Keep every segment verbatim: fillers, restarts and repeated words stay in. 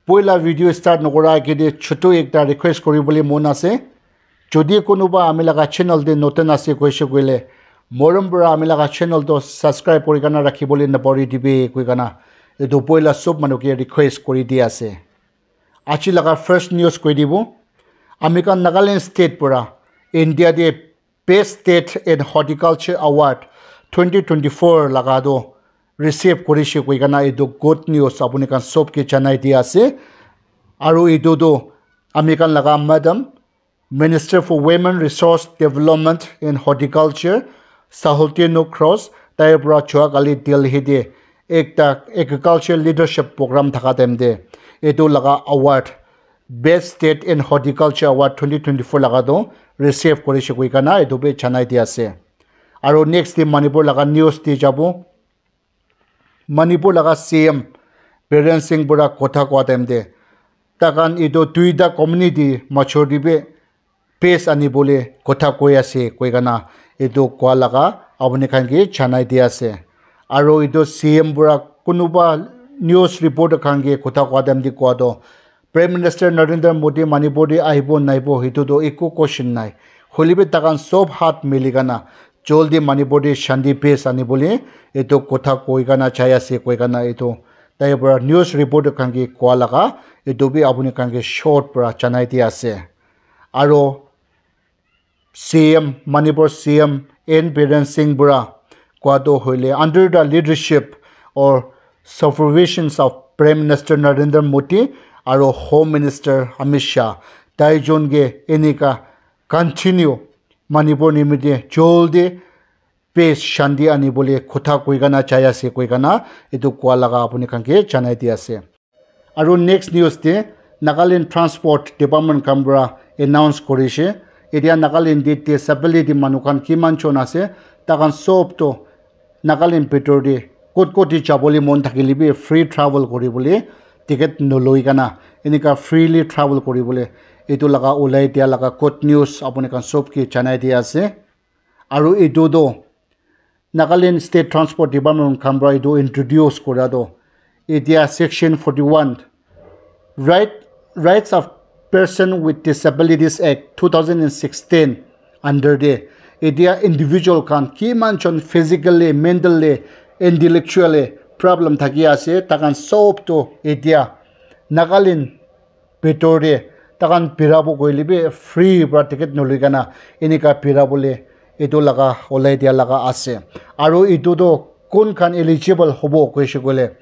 Poila video start nokora agete chutu ekta request koribole mon ase. Jodi kunuba ami laga channel te notun ase koise koile, morom para ami laga channel to subscribe kori kana rakhibole napahori dibi koi kana etu poila sob manu ke request kori di ase. Aji laga first news koi dibo, ami khan Nagaland state para India te Best State in Horticulture Award twenty twenty-four laga do receive korishe koi kana etu good news apuni khan sob ke janai di ase. Aru etu do ami khan laga Madam Minister for Women Resource Development and Horticulture, Sahulti Nokros, tai para jua kali Delhi te ekta agriculture leadership program thaka time te etu laga award, Best State in Horticulture Award twenty twenty-four laga do receive korishe koi kana etu bi janai di ase. Aru next te Manipur laga news te jabo. Manipur laga C M Biren Singh para kotha koa time te, takhan etu duita community major te bi peace anibole kotha koi ase koi kana etu koa laga apuni khan ke janai di ase. Aru etu C M para kunuba news reporter khan ke kotha koa time te koa to Prime Minister Narendra Modi Manipur te ahibo naibo, hitu toh eku question nai. Hoile bi takhan sob hath mili kana joldi Manipur te shanti peace ani bole etu kotha koi kana jai ase koi kana etu tai para news reporter khan ke koa laga etu bi apuni khan ke short para janai di ase. Aro C M, Manipur C M N Biren Singh para koa toh hoile, under the leadership or supervisions of Prime Minister Narendra Modi aro Home Minister Amit Shah, tai jon ke enika continue Manipur nimite joldi peace shanti ani bole kotha koi kana jai ase koi kana etu koa laga apuni khan ke janai di ase. Aru next news te Nagaland Transport Department khan para announce korishe, etia Nagaland te disability manu khan kiman jon ase, takhan sob toh Nagaland bitor te kot kot te jabole mon thakile bi free travel koribole, ticket noloi kana enika freely travel koribole etu laga ulai dia laga good news apuni khan sob ke janai di ase. Aru etu toh Nagaland State Transport Department khan para etu introduce kora toh etia Section forty-one, Right, Rights of Person with Disabilities Act two thousand and sixteen under te etia individual khan kiman jon physically, mentally, intellectually problem thaki ase, takhan sob toh etia Nagaland bitor te takhan birabo koile bi free para ticket noloi kana enika birabole etu laga olai dia laga ase. Aru etu toh kun khan eligible hobo koishe koile,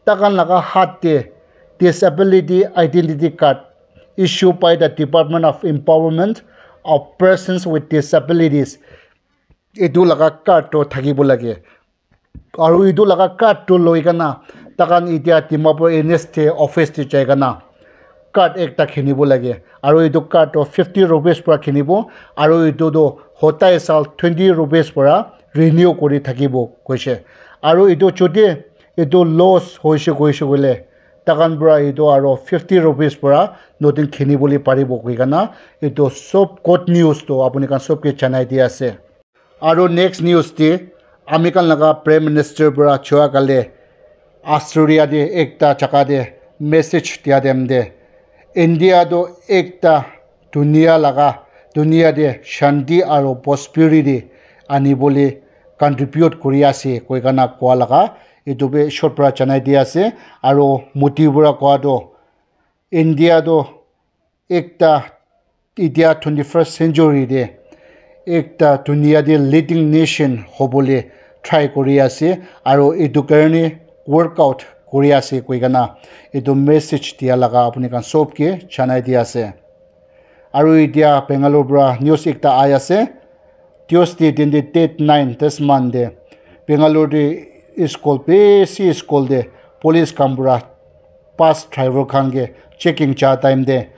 takhan laga hath te Disability Identity Card issued by the Department of Empowerment of Persons with Disabilities, etu laga card toh thakibo lage. Aru etu laga card toh loi kana takhan etia Dimapur N S te office te jai kana card ekta khinibo lage. Aru etu card toh fifty rupees para khinibo, aru etu toh hotai saal twenty rupees para renew kuri thakibo koishe. Aru etu jodi etu loss hoishe koishe koile, takhan para etu aro fifty rupees para notun khini bole paribo koi kana etu sob good news toh apuni khan sob ke janai di ase. Aro next news te ami khan laga Prime Minister para jua kale Australia te ekta jaga te message dia time te, India toh ekta dunia laga, dunia te shanti aro prosperity ani bole contribute kuri ase koi kana koa laga etu bi short para janai di ase. Aro Modi para koa toh India toh ekta etia twenty-first century te ekta dunia te leading nation hobole try kuri ase, aro etu karne workout kuri ase koi kana etu message dia laga apuni khan sob ke janai di ase. Aro etia Bangalore para news ekta ahi ase, Tuesday din te date nine this month te Bangalore te school, bishi school te police khan para bus driver khan ke checking ja time te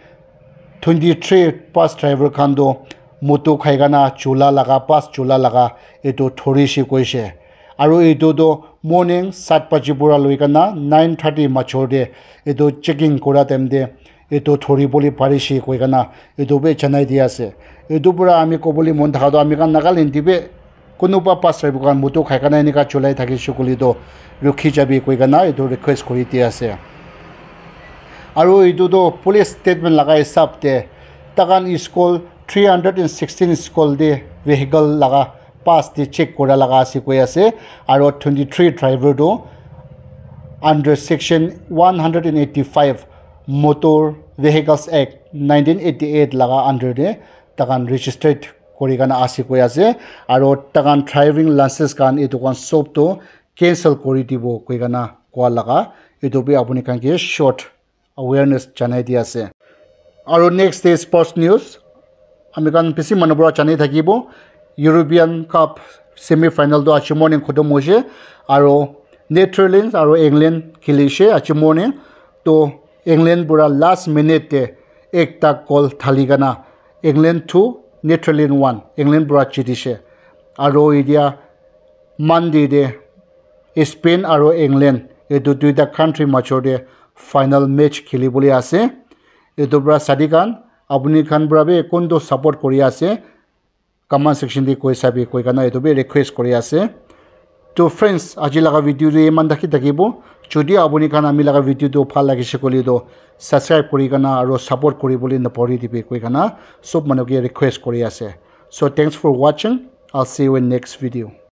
twenty three bus driver khan toh moto khai kana chula laga, bus chula laga etu thori she koishe. Aro etu toh morning sat baji para loi kana nine thirty major te etu checking kura time te etu thori bole pari she koi kana etu bi janai di ase. Etu para ami kobole mon thaka toh ami khan Nagaland te bi kunuba bus driver khan moto khai kana enika chulai thakishe koile toh rukhi jabi koi kana etu request kuri di ase. Aru etu tu police statement laga hisab te takan school three hundred and sixteen school te vehicle laga pass te check kura laga ase koi ase, aru twenty three driver tu under section one hundred and eighty five Motor Vehicles Act nineteen eighty eight laga under te takan registered kuri kana ase koi ase, aru takan driving license kan etu kan sob tu cancel kuri dibo koi kana koa laga etu bi apuni khan ke short awareness janai di ase. Aru next day sports news, ami khan bishi manu para jani thakibo, European Cup semi final tu aji morning khotom hoise, aru Netherlands aru England khilishe aji morning. To England pura last minute te ekta goal thali kana England two Netherlands one, England pura jitishe. Aru etia Monday te Spain aru England etu duita country major te final match kheli bole ase. Etu para sadi khan apuni khan para bi kuntu support kuri ase, comment section te koi sabi koi kana etu bi request kuri ase. To friends, aji laga video tu iman thaki thakibo. Jodi apuni khan ami laga video tu bhal lagise koile tu subscribe kuri kana aru support kuri bole napahori dibi koi kana sob manu ke request kuri ase. So thanks for watching. I'll see you in next video.